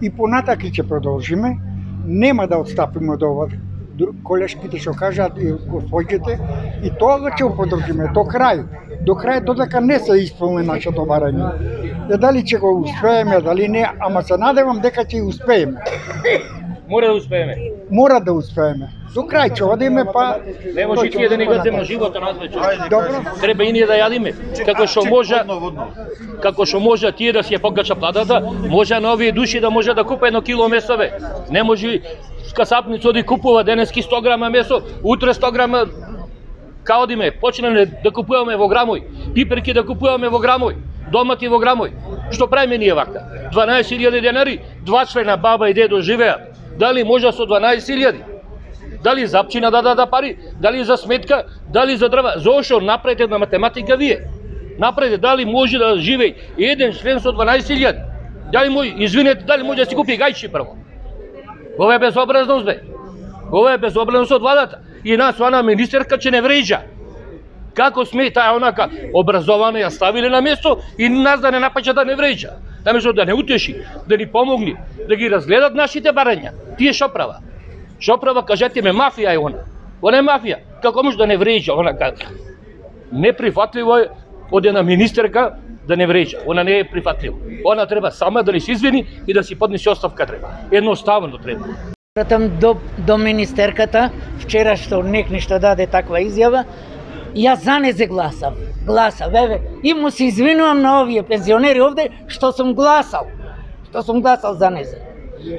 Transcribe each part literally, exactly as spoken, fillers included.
И понатака ќе продолжиме, нема да отстапиме од ова. Колешките што кажаат и господите, и тоа ќе го подржиме до крај. До крај додека не се исполни нашето барање. Е дали ќе го успееме, дали не, ама се надевам дека ќе успееме. Мора да успееме. Мора да успееме. До крај ќе одиме, па не може тие да ни газиме животот надвечер. Добро. Треба и ние да јадиме. Како што може, како што може тие да си ја покача платата, може на овие души да може да купи едно кило месо бе. Не може касапница оди купува денески сто грама месо, утре сто грама каодиме, почнеме да купуваме во грамој, пиперки да купуваме во грамој, домати во грамој. Што правиме ние вака? дванаесет илјади денари, два члена баба и дедо живеат. Дали може со дванаесет илјади? Дали запчина да даде пари, дали за сметка, дали за дрва? Зошто направите на математика вие? Направите дали може да живее еден член со дванаесет илјади? Дали може, извинете, дали може да си купи гајчи прво? Ова е безобразност бе. Ова е безобразност од владата. И нас она министерка че не вреđа. Како сме таа онака образована ја ставиле на место и нас да не напаѓа да не вреđа. Наместо да не утеши, да ни помогни, да ги разгледат нашите барања. Тие шо права? Шо права, кажете ме, мафија е она. Она е мафија. Како може да не вреđа онака? Неприфатливо е од една министерка да не вреđа. Она не е прифатливо. Она треба сама да ни се извини и да си поднесе оставка треба. Едноставно треба. Пратам до, до министерката, вчера што некни што даде таква изјава, јас за незе гласав. Гласав, еве, и му се извинувам на овие пензионери овде што сум гласал. Што сум гласал за незе.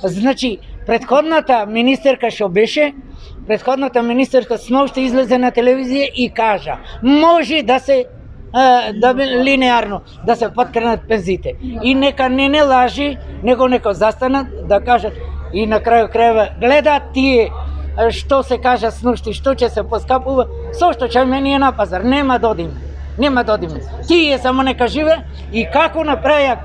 Значи, претходната министерка што беше, претходната министерка сношто излезе на телевизија и кажа, може да се да линеарно да се подкренат пензиите. И нека не не лажи, него нека застанат да кажат и на крајот крајва гледаат тие што се кажа снушти, што ќе се поскапува, со што ќе мене на пазар, нема да одиме. Нема да одиме. Тие само нека живе и како направија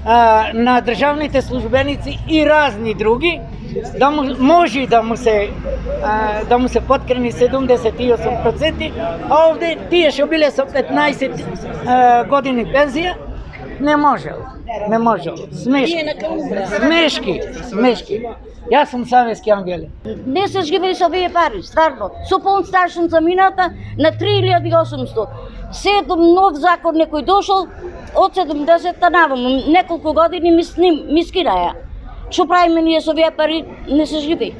а, на државните службеници и разни други, да му, може да му се а, да му се подкрени седумдесет и осум проценти, а овде тие што биле со петнаесет а, години пензија, не можел. Не можел. Смешки. Смешки. Смешки. Јас сум Савески Ангеле. Не се живее со овие пари, стварно. Со полн старшинца мината на три илјади и осумстотини. Седум нов закон некој дошол од седумдесетта наваму, неколку години ми сним, ми скинаја. Што правиме ние со овие пари, не се живее.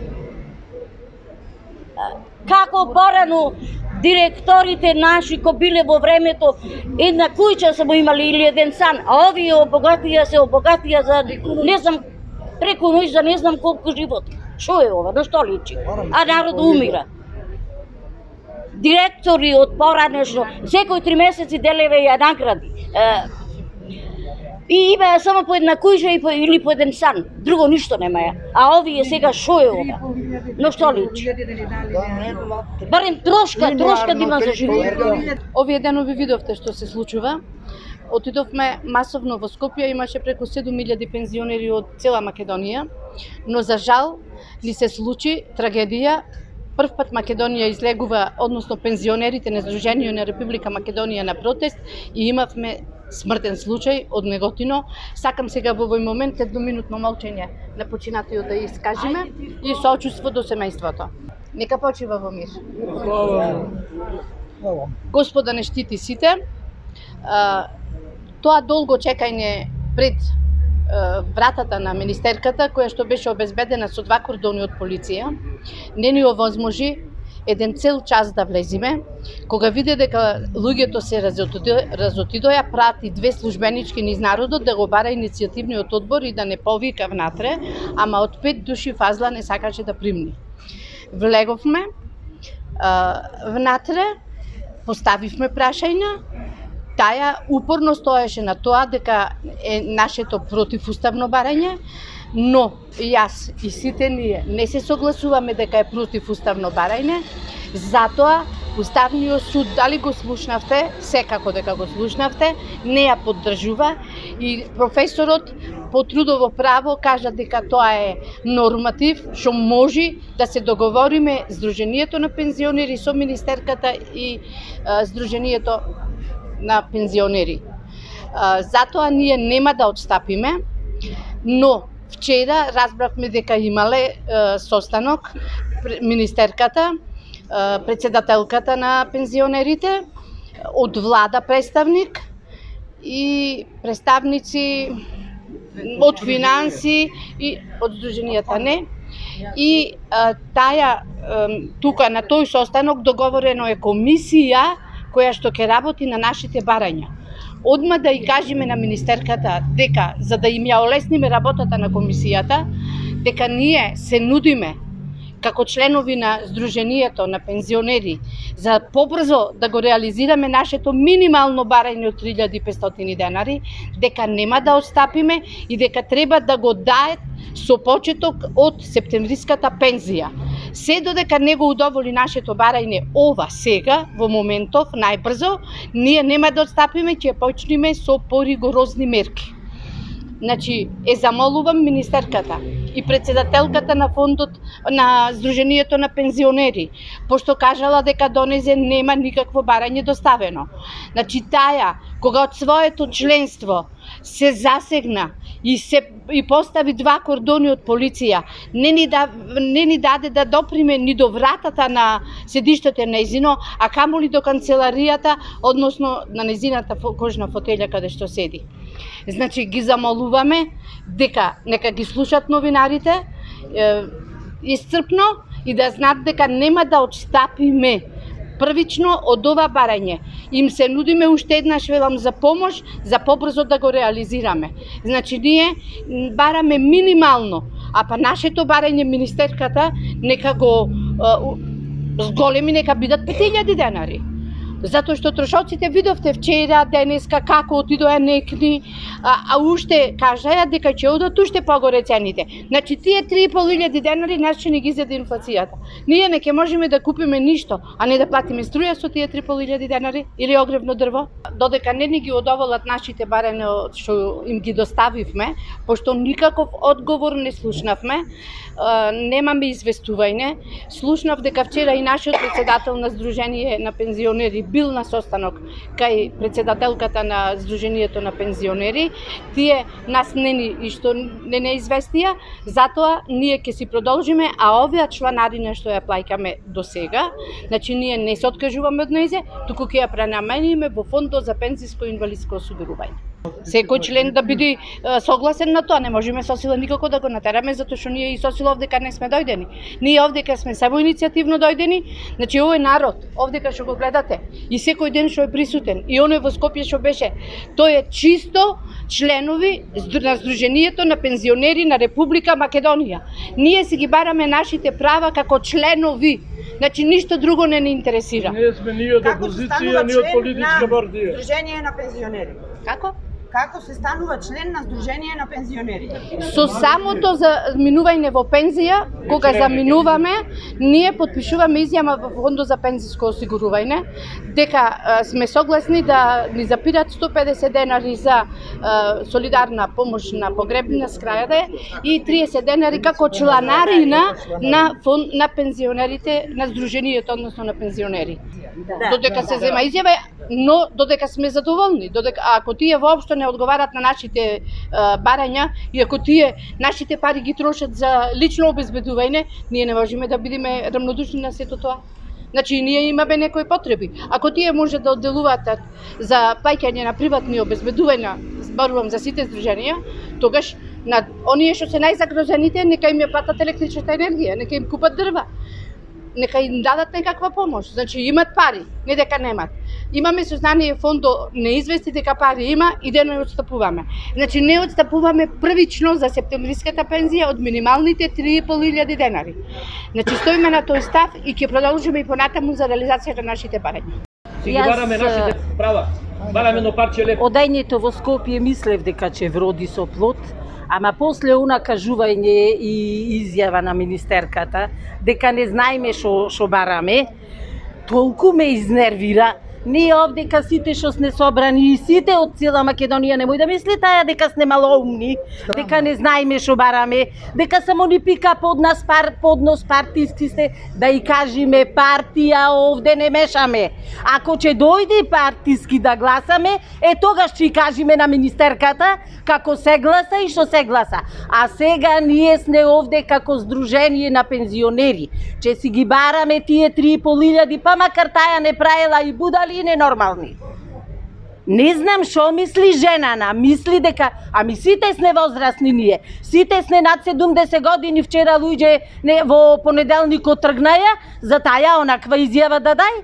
Како порано директорите наши ко биле во времето една куќа само имали или еден сан, а овие обогатија се обогатија за не знам преку ноќ за не знам колку живот. Што е ова? На што личи? А народот умира. Директори од поранешно секој три месеци делеве ја награди. И имаја само по една куќа и по, или по еден сан. Друго ништо немаја. А овие сега што е ова? На што личи? Барем трошка, трошка да има за живот. Овие денови видовте што се случува. Отидовме масовно во Скопје, имаше преку седум илјади пензионери од цела Македонија, но за жал ни се случи трагедија. Прв пат Македонија излегува, односно пензионерите на Сдруженијето на Република Македонија на протест и имавме смртен случај од Неготино. Сакам сега во овој момент едноминутно молчење на починатиот да искажеме и соочувство до семејството. Нека почива во мир. Господа не штити сите. Тоа долго чекање пред вратата на министерката, која што беше обезбедена со два кордони од полиција, не ни овозможи еден цел час да влезиме. Кога виде дека луѓето се разотидоја, прати две службенички низ народот да го бара иницијативниот одбор и да не повика внатре, ама од пет души фазла не сакаше да примни. Влеговме внатре, поставивме прашања, таја упорно стоеше на тоа дека е нашето противуставно барање, но јас и сите ние не се согласуваме дека е противуставно барање, затоа Уставниот суд, дали го слушнавте, секако дека го слушнавте, не ја поддржува и професорот по трудово право кажа дека тоа е норматив што може да се договориме Сдруженијето на пензионери со министерката и а, Сдруженијето на пензионери. А, затоа ние нема да отстапиме, но Вчера разбравме дека имале е, состанок министерката, е, председателката на пензионерите, од влада представник и представници од финанси и од здруженијата не. И а, тая а, тука на тој состанок договорено е комисија која што ќе работи на нашите барања. Одма да и кажеме на министерката дека за да им ја олесниме работата на комисијата, дека ние се нудиме како членови на Сдруженијето на пензионери за побрзо да го реализираме нашето минимално барање од три илјади и петстотини денари, дека нема да отстапиме и дека треба да го даат со почеток од септемвриската пензија. Се додека не го удоволи нашето барање ова сега, во моментов, најбрзо, ние нема да отстапиме, ќе почнеме со поригорозни мерки. Значи, е замолувам министерката и председателката на фондот на Сдруженијето на пензионери, пошто кажала дека донезе нема никакво барање доставено. Значи, таја, кога од своето членство се засегна и се и постави два кордони од полиција, не ни, да, не ни даде да доприме ни до вратата на седиштето нејзино, а камоли до канцеларијата, односно на нејзината кожна фотелја каде што седи. Значи, ги замолуваме дека нека ги слушат новинарите е, исцрпно и да знаат дека нема да отстапиме првично од ова барање. Им се нудиме уште еднаш, велам, за помош, за побрзо да го реализираме. Значи, ние бараме минимално, а па нашето барање министерката нека го е, зголеми, нека бидат пет илјади денари. Затоа што трошоците видовте вчера, денеска, како отидоа некни, а, а уште кажаја дека ќе одат уште погоре цените. Значи, тие три и пол илјади денари нас ќе ни ги зеде инфлацијата. Ние не ќе можеме да купиме ништо, а не да платиме струја со тие три и пол илјади денари или огревно дрво. Додека не ни ги одоволат нашите барања што им ги доставивме, пошто никаков одговор не слушнавме, немаме известување. Слушнав дека вчера и нашиот председател на Сдружение на пензионери бил на состанок кај председателката на Сдруженијето на пензионери. Тие нас не ни и што не не известија, затоа ние ќе си продолжиме, а овие чланарина што ја плаќаме до сега, значи ние не се откажуваме од нејзе, туку ќе ја пренамениме во фондот за пензиско и инвалидско осигурување. Секој член да биде согласен на тоа, не можеме со сила никако да го натераме, затоа што ние и со сила овдека не сме дојдени. Ние овдека сме само иницијативно дојдени, значи овој народ, овдека што го гледате, и секој ден што е присутен, и оној во Скопје што беше, тој е чисто членови на Сдруженијето на пензионери на Република Македонија. Ние си ги бараме нашите права како членови, значи ништо друго не ни интересира. Ние сме ни од опозиција, ни од политичка партија. Сдружение на пензионери. Како? Како се станува член на Сдружение на пензионери? Со самото за минување во пензија, кога заминуваме, ние подпишуваме изјава во фондот за пензиско осигурување, дека а, сме согласни да ни запират сто и педесет денари за а, солидарна помош на погребнина скрајаде и триесет денари како чланарина на фонд на пензионерите на Сдруженијето, односно на пензионери. Да, додека се зема изјава, но додека сме задоволни, додека ако тие воопшто не одговарат на нашите а, барања и ако тие нашите пари ги трошат за лично обезбедување, ние не можеме да бидеме рамнодушни на сето тоа. Значи, ние имаме некои потреби. Ако тие може да одделуваат за плаќање на приватни обезбедувања, зборувам за сите здруженија, тогаш на оние што се најзагрозените, нека им ја платат електричната енергија, нека им купат дрва, нека им дадат некаква помош. Значи, имат пари, не дека немат. Имаме сознание фондо не извести дека пари има и да не отстапуваме. Значи, не отстапуваме првично за септемвриската пензија од минималните три и пол илјади денари. Значи, стоиме на тој став и ќе продолжиме и понатаму за реализација на нашите барања. Си ги бараме нашите права. Бараме едно парче леп. Одајњето во Скопје мислев дека ќе вроди со плод, ама после она кажување и изјава на министерката дека не знаеме што што бараме, толку ме изнервира Ние овдека сите што сме собрани и сите од цела Македонија немој да мисли таја дека сме малоумни, дека не знаеме што бараме, дека само ни пика под нас пар под нос партиски сте, да и кажеме партија овде не мешаме. Ако ќе дојде партиски да гласаме, е тогаш ќе кажеме на министерката како се гласа и што се гласа. А сега ние сме овде како здружение на пензионери. Че си ги бараме тие три и пол илјади, па макар таја не правила и будали и ненормални. Не знам што мисли женана, мисли дека, ами сите сме возрастни ние, сите сме над седумдесет години, вчера луѓе не, во понеделникот тргнаја, за таја онаква изјава да дај.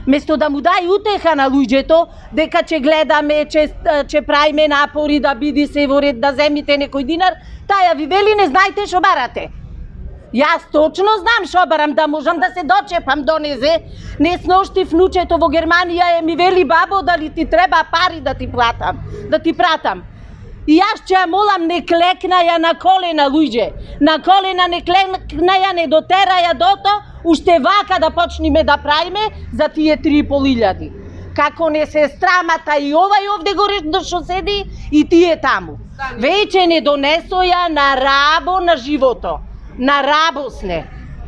Место да му дај утеха на луѓето, дека ќе гледаме, че, че правиме напори да биде се во ред, да земите некој динар, таја ви вели не знаете што барате. Јас точно знам што барам, да можам да се дочепам до незе. Не сношти внучето во Германија е ми вели бабо дали ти треба пари да ти платам, да ти пратам. И јас ќе ја молам не клекнаја на колена луѓе, на колена не клекнаја, не дотераја дото, уште вака да почнеме да правиме за тие три и пол илјади. Како не се страмата и овај овде горе што седи и тие таму. Веќе не донесоја на рабо на живото. На рабо сне.